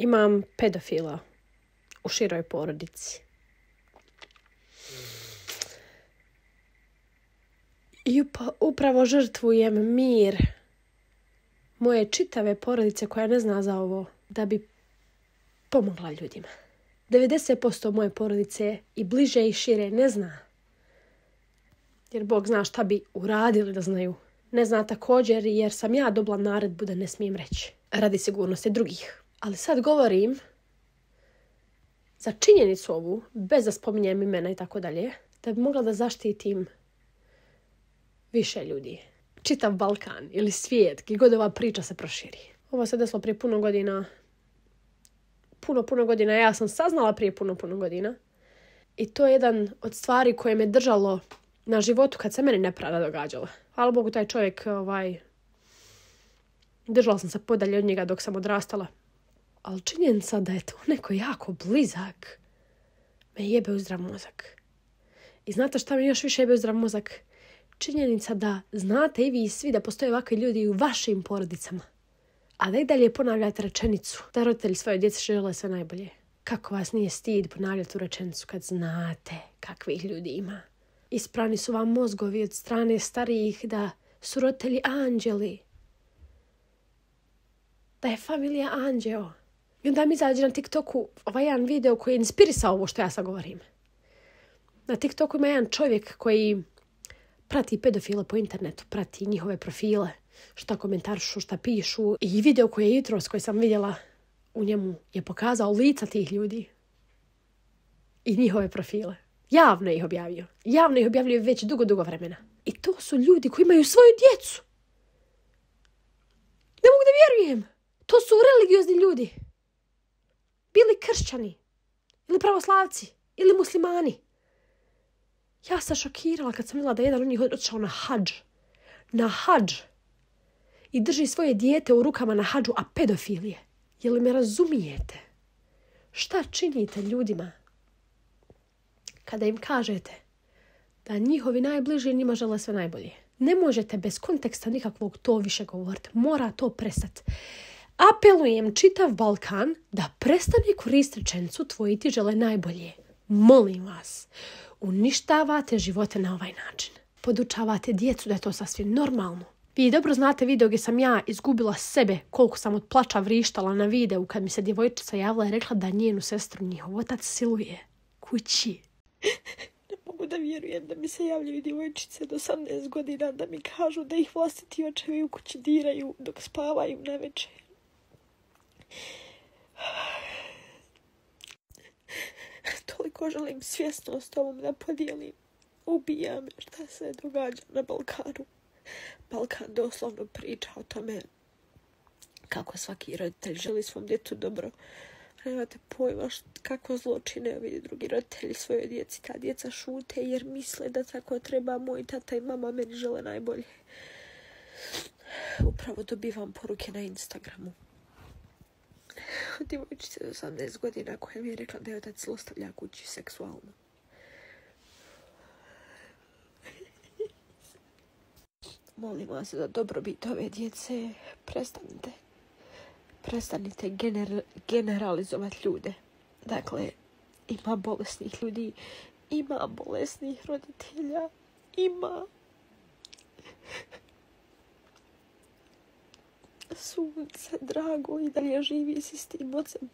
Imam pedofila u široj porodici. I upravo žrtvujem mir moje čitave porodice koja ne zna za ovo da bi pomogla ljudima. 90% moje porodice i bliže i šire ne zna. Jer Bog zna šta bi uradili da znaju. Ne zna također jer sam ja dobila naredbu da ne smijem reći. Radi sigurnosti drugih. Ali sad govorim za činjenicu ovu, bez da spominjem imena i tako dalje, da bi mogla da zaštitim više ljudi. Čitav Balkan ili svijet, gdje god ova priča se proširi. Ovo se desilo prije puno godina. Puno godina. Ja sam saznala prije puno godina. I to je jedan od stvari koje me držalo na životu kad se meni nepravda događala. Hvala Bogu, taj čovjek, držala sam se podalje od njega dok sam odrastala. Ali činjenica da je to neko jako blizak me jebe u zdrav mozak. I znate šta me još više jebe u zdrav mozak? Činjenica da znate i vi svi da postoje ovakvi ljudi u vašim porodicama. A da i dalje ponavljate rečenicu da roditelji svoje djece žele sve najbolje. Kako vas nije stid ponavljati tu rečenicu kad znate kakvih ljudi ima? Isprani su vam mozgovi od strane starijih da su roditelji anđeli. Da je familija anđeo. I onda mi izađe na TikToku ovaj jedan video koji je inspirisao ovo što ja sad govorim. Na TikToku ima jedan čovjek koji prati pedofile po internetu, prati njihove profile, šta komentarišu, šta pišu. I video koji je jutros koji sam vidjela u njemu je pokazao lica tih ljudi i njihove profile. Javno ih objavio. Javno ih objavljaju već dugo vremena. I to su ljudi koji imaju svoju djecu. Ne mogu da vjerujem. To su religiozni ljudi. Bili kršćani. Ili pravoslavci. Ili muslimani. Ja sam šokirala kad sam vidjela da jedan od njih odšao na hadž. Na hadž. I drži svoje dijete u rukama na hadžu, a pedofil je. Je li me razumijete? Šta činite ljudima kada im kažete da njihovi najbliži njima žele sve najbolje? Ne možete bez konteksta nikakvog to više govoriti. Mora to prestati. Apelujem čitav Balkan da prestane koristiti rečenicu tvoji ti žele najbolje. Molim vas, uništavate živote na ovaj način. Podučavate djecu da je to sasvim normalno. Vi dobro znate video gdje sam ja izgubila sebe koliko sam od plača vrištala na videu kad mi se djevojčica javila i rekla da njenu sestru njihov otac siluje kući. Ne mogu da vjerujem da mi se javljaju djevojčice do 18 godina da mi kažu da ih vlastiti očevi u kući diraju dok spavaju navečer. Toliko želim svjesnost ovom da podijelim. Ubija me šta se događa na Balkanu. Balkan doslovno priča o tome kako svaki roditelj želi svom djetu dobro. Nemate pojma kako zločine ovi drugi roditelji svojoj djeci. Ta djeca šute jer misle da tako treba. Moj tata i mama meni žele najbolje. Upravo dobivam poruke na Instagramu od djevojčice do 18 godina koja mi je rekla da je otac zlostavlja kući seksualno. Molim vas za dobrobit ove djece. Prestanite generalizovati ljude. Dakle, ima bolesnih ljudi, ima bolesnih roditelja, ima sunce drago i dalje živi si s tim ocem.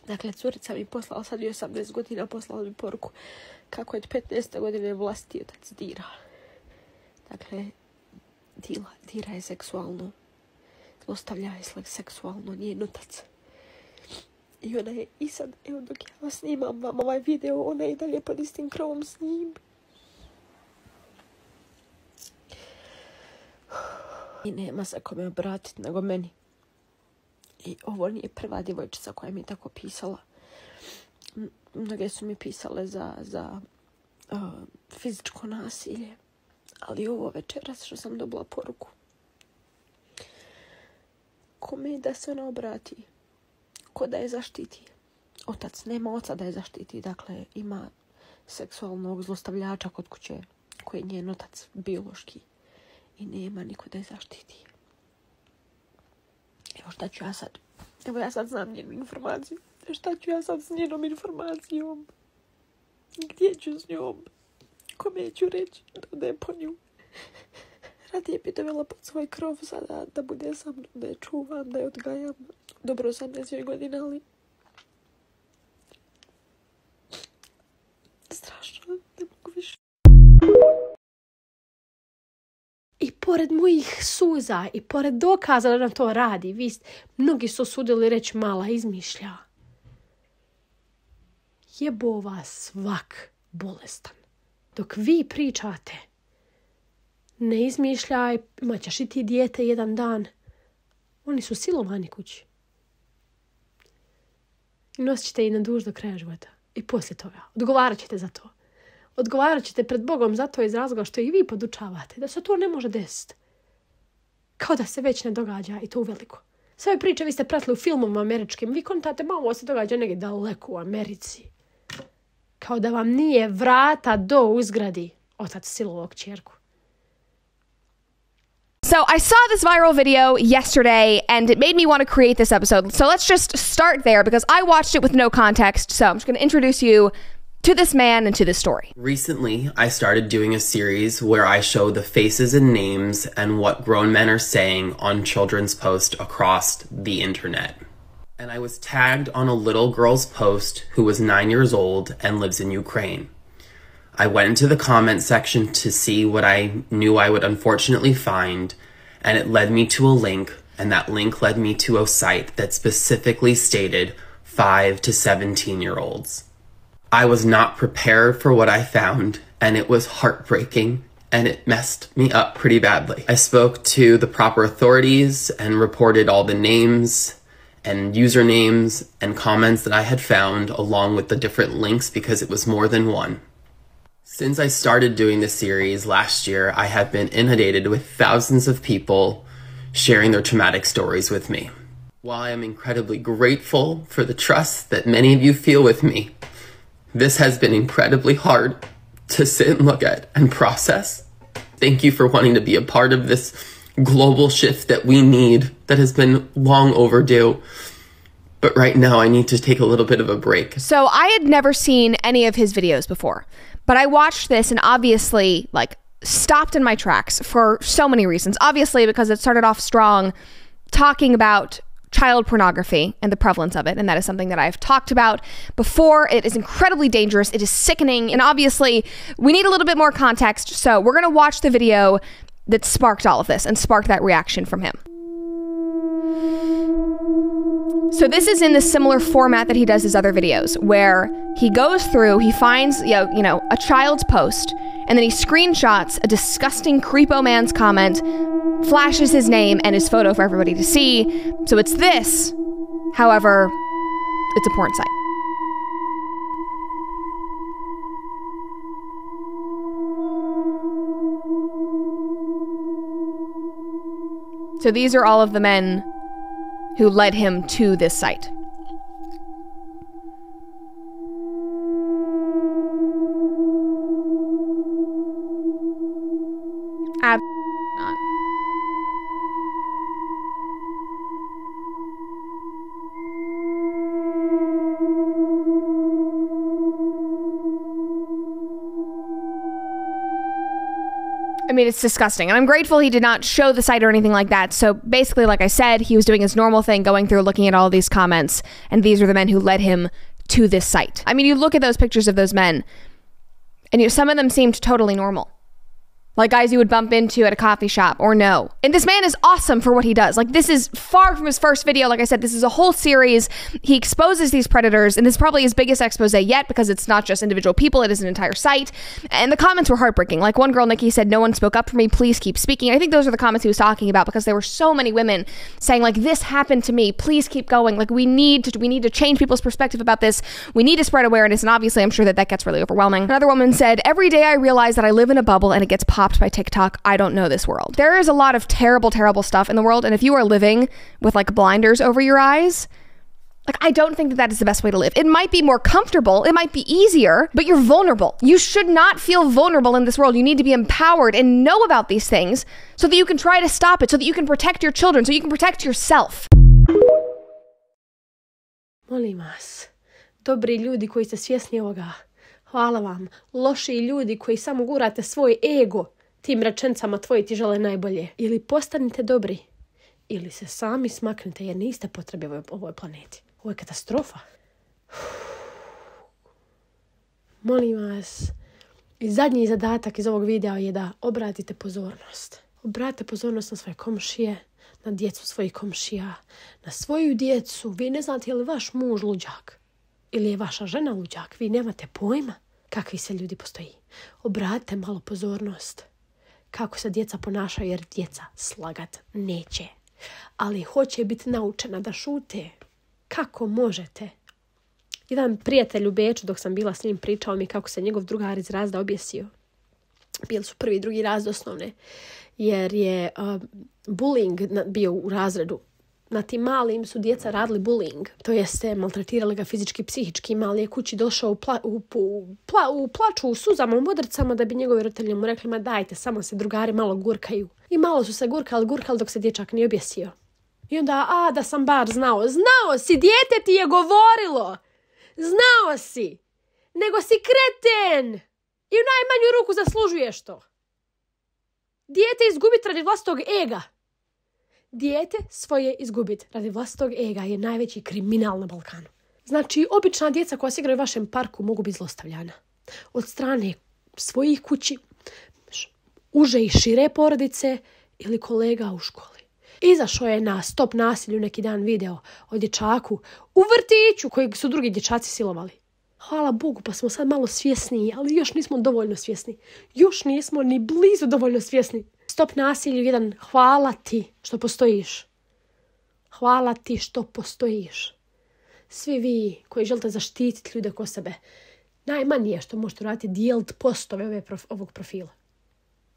Dakle, curica mi poslala, sad je 18 godina, poslala mi poruku kako je 15. godine vlastiti otac dira. Dakle, dira je seksualno. Zlostavlja je seksualno, njen otac. I ona je i sad, evo dok ja snimam vam ovaj video, ona je i dalje pod istim krovom s njim. I nema se kome obratiti nego meni. I ovo nije prva djevojčica koja mi je tako pisala. Mnoge su mi pisale za fizičko nasilje. Ali ovo večeras što sam dobila poruku. Kome da se ona obrati? Ko da je zaštiti? Otac nema oca da je zaštiti. Dakle, ima seksualnog zlostavljača kod kuće koji je njen otac biološki. I nema niko da je zaštiti. Evo šta ću ja sad Evo ja sad znam njenu informaciju. Šta ću ja sad s njenom informacijom? Gdje ću s njom? Kome ću reći da ode po nju? Radije bi dovela pod svoj krov sada da bude sa mnom, da je čuvam, da je odgajam. Dobro 18 godina, ali strašno, ne mogu više. I pored mojih suza i pored dokaza da nam to radi, mnogi su osudili reći mala izmišlja. Jebo vas svak bolestan. Dok vi pričate, ne izmišljaj, imat ćeš i ti dijete jedan dan. Oni su silovani kući. I nosit ćete i na duž do kraja života. I poslije toga. Odgovarat ćete za to. Odgovarat ćete pred Bogom za to iz razloga što i vi podučavate da se to ne može desiti. Kao da se već ne događa i to uveliko. Sve priče vi ste pratili u filmovima američkim. Vi kontate, ovo se događa negdje daleko u Americi. Kao da vam nije vrata do uzgradi otac silovao kćerku. So I saw this viral video yesterday and it made me want to create this episode. So let's just start there because I watched it with no context. So I'm just going to introduce you to this man and to this story. Recently, I started doing a series where I show the faces and names and what grown men are saying on children's posts across the internet. And I was tagged on a little girl's post who was 9 years old and lives in Ukraine. I went into the comment section to see what I knew I would unfortunately find, and it led me to a link, and that link led me to a site that specifically stated 5 to 17-year-olds. I was not prepared for what I found, and it was heartbreaking, and it messed me up pretty badly. I spoke to the proper authorities and reported all the names and usernames and comments that I had found along with the different links because it was more than one. Since I started doing this series last year, I have been inundated with thousands of people sharing their traumatic stories with me. While I am incredibly grateful for the trust that many of you feel with me, this has been incredibly hard to sit and look at and process. Thank you for wanting to be a part of this global shift that we need, that has been long overdue. But right now I need to take a little bit of a break. So I had never seen any of his videos before, but I watched this and obviously stopped in my tracks for so many reasons. Obviously because it started off strong talking about child pornography and the prevalence of it, and that is something that I've talked about before. It is incredibly dangerous, it is sickening, and obviously we need a little bit more context, so we're gonna watch the video that sparked all of this and sparked that reaction from him. So this is in the similar format that he does his other videos, where he goes through, he finds a child's post, and then he screenshots a disgusting creepo man's comment, flashes his name and his photo for everybody to see. So it's this, however, it's a porn site. So these are all of the men who led him to this site. Absolutely not. I mean, it's disgusting. And I'm grateful he did not show the site or anything like that. So basically, like I said, he was doing his normal thing, going through, looking at all of these comments, and these are the men who led him to this site. I mean, you look at those pictures of those men, and some of them seemed totally normal. Like guys you would bump into at a coffee shop or no. And this man is awesome for what he does. Like, this is far from his first video. Like I said, this is a whole series. He exposes these predators, and this is probably his biggest expose yet because it's not just individual people, it is an entire site. And the comments were heartbreaking. Like one girl, Nikki, said, "No one spoke up for me, please keep speaking." I think those are the comments he was talking about because there were so many women saying like, "This happened to me, please keep going. Like, we need to change people's perspective about this. We need to spread awareness." And obviously I'm sure that gets really overwhelming. Another woman said, "Every day I realize that I live in a bubble and it gets popped by TikTok. I don't know this world." There is a lot of terrible, terrible stuff in the world, and if you are living with like blinders over your eyes, like, I don't think that is the best way to live. It might be more comfortable, it might be easier, but you're vulnerable. You should not feel vulnerable in this world. You need to be empowered and know about these things so that you can try to stop it, so that you can protect your children, so you can protect yourself. Molim vas, dobri ljudi koji ste svjesni ovoga, hvala vam. Loši ljudi koji samo gurate svoj ego tim rečencama tvoji ti žele najbolje. Ili postanite dobri, ili se sami smaknite jer niste potrebi ovoj planeti. Ovo je katastrofa. Molim vas, i zadnji zadatak iz ovog videa je da obratite pozornost. Obratite pozornost na svoje komšije, na djecu svojih komšija, na svoju djecu. Vi ne znate je li vaš muž luđak ili je vaša žena luđak. Vi nemate pojma kakvi se ljudi postoji. Obratite malo pozornost kako se djeca ponašaju jer djeca slagat neće. Ali hoće biti naučena da šute. Kako možete? Jedan prijatelj u Beču dok sam bila s njim pričao mi kako se njegov drugar iz razreda objesio. Bili su prvi i drugi razred osnovne. Jer je bullying bio u razredu. Na tim malim su djeca radili bullying. To jeste maltretirali ga fizički, psihički. Mali je kući došao u plaču, u suzama, u modricama da bi njegovi roditelji mu rekli ma dajte, samo se drugari malo gurkaju. I malo su se gurkali dok se dječak nije objesio. I onda, da sam bar znao. Znao si, dijete ti je govorilo. Znao si. Nego si kreten. I u najmanju ruku zaslužuješ to. Dijete izgubiti radi vlastitog ega. Dijete svoje izgubiti radi vlastitog ega je najveći kriminal na Balkanu. Znači, obična djeca koja se igraju u vašem parku mogu biti zlostavljana. Od strane svojih kući, uže i šire porodice ili kolega u školi. Izašao je na Stop nasilju neki dan video o dječaku u vrtiću kojeg su drugi dječaci silovali. Hvala Bogu, pa smo sad malo svjesniji, ali još nismo dovoljno svjesni. Još nismo ni blizu dovoljno svjesni. Stop nasilju jedan, hvala ti što postojiš. Hvala ti što postojiš. Svi vi koji želite zaštititi ljude oko sebe, najmanje što možete raditi dijeliti postove ovog profila.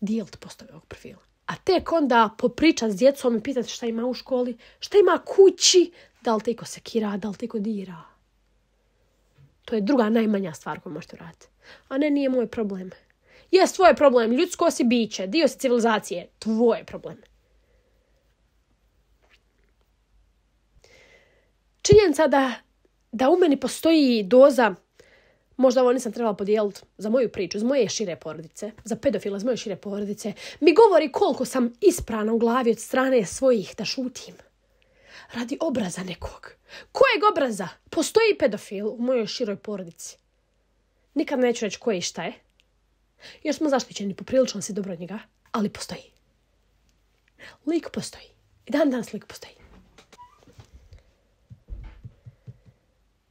Dijeliti postove ovog profila. A tek onda popričati s djecom i pitati šta ima u školi, šta ima kući, da li te iko sekira, da li te iko dira. To je druga najmanja stvar koju možete raditi. A ne, nije moj problem. Jes, tvoj problem. Ljudsko si biće. Dio si civilizacije. Tvoj problem. Činjenica da u meni postoji doza, možda ovo nisam trebala podijeliti za moju priču, za moje šire porodice, za pedofila iz moje šire porodice, mi govori koliko sam isprana u glavi od strane svojih da šutim. Radi obraza nekog. Kojeg obraza? Postoji pedofil u mojoj široj porodici. Nikad neću reći koje i šta je. Još smo zaštićeni, poprilično si dobro od njega, ali postoji. Lik postoji. I dan danas lik postoji.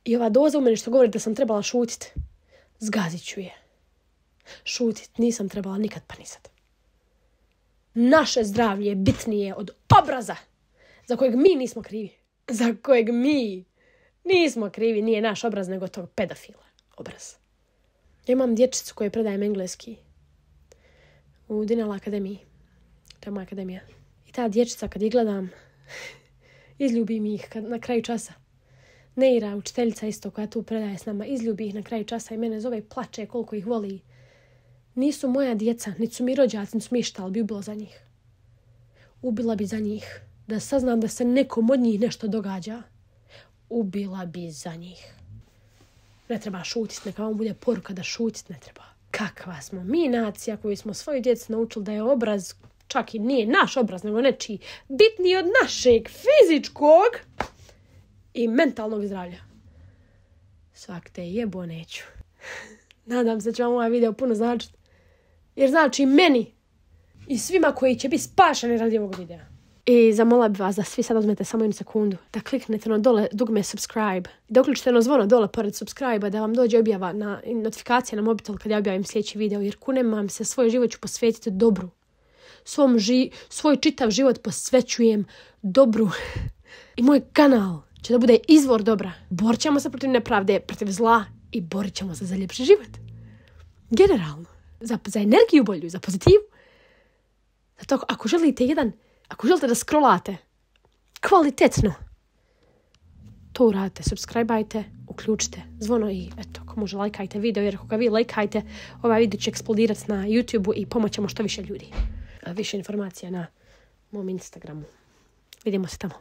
I ova doza u meni što govori da sam trebala šutiti, zgazit ću je. Šutit nisam trebala nikad pa ni sad. Naše zdravlje je bitnije od obraza za kojeg mi nismo krivi. Za kojeg mi nismo krivi, nije naš obraz nego tog pedofila obraz. Ja imam dječicu koju predajem engleski u Dinala akademiji. To je moja akademija. I ta dječica kad ih gledam, izljubim ih na kraju časa. Neira, učiteljica isto koja tu predaje s nama, izljubi ih na kraju časa i mene zove i plače koliko ih voli. Nisu moja djeca, niti su mi rođaci, niti su mi šta, ali bi ubila za njih. Ubila bi za njih. Da saznam da se nekom od njih nešto događa. Ubila bi za njih. Ne treba šutiti, neka vam bude poruka da šutiti ne treba. Kakva smo mi nacija koju smo svoju djecu naučili da je obraz, čak i nije naš obraz, nego nečiji, bitniji od našeg fizičkog i mentalnog zdravlja. Svak te jebo neću. Nadam se da će vam ovaj video puno značiti. Jer znači meni i svima koji će biti spašeni radi ovog videa. I zamolila bi vas da svi sad uzmete samo jednu sekundu, da kliknete na dole dugme subscribe, da uključite na zvono dole pored subscribe, da vam dođe objava na notifikacija na mobitel kad ja objavim sljedeći video, jer kunem vam se, svoj život ću posvetiti dobru. Svoj čitav život posvećujem dobru. I moj kanal će da bude izvor dobra. Borit ćemo se protiv nepravde, protiv zla i borit ćemo se za ljepši život. Generalno. Za energiju bolju, za pozitivu. Zato ako želite da scrollate kvalitetno, to uradite, subscribe-ajte, uključite zvono i eto, ako može lajkajte video, jer ako ga vi lajkajte, ovaj video će eksplodirati na YouTube-u i pomoćemo što više ljudi. Više informacija na mom Instagramu. Vidimo se tamo.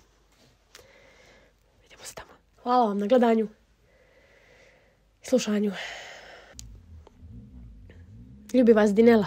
Hvala vam na gledanju i slušanju. Ljubi vas Dinela.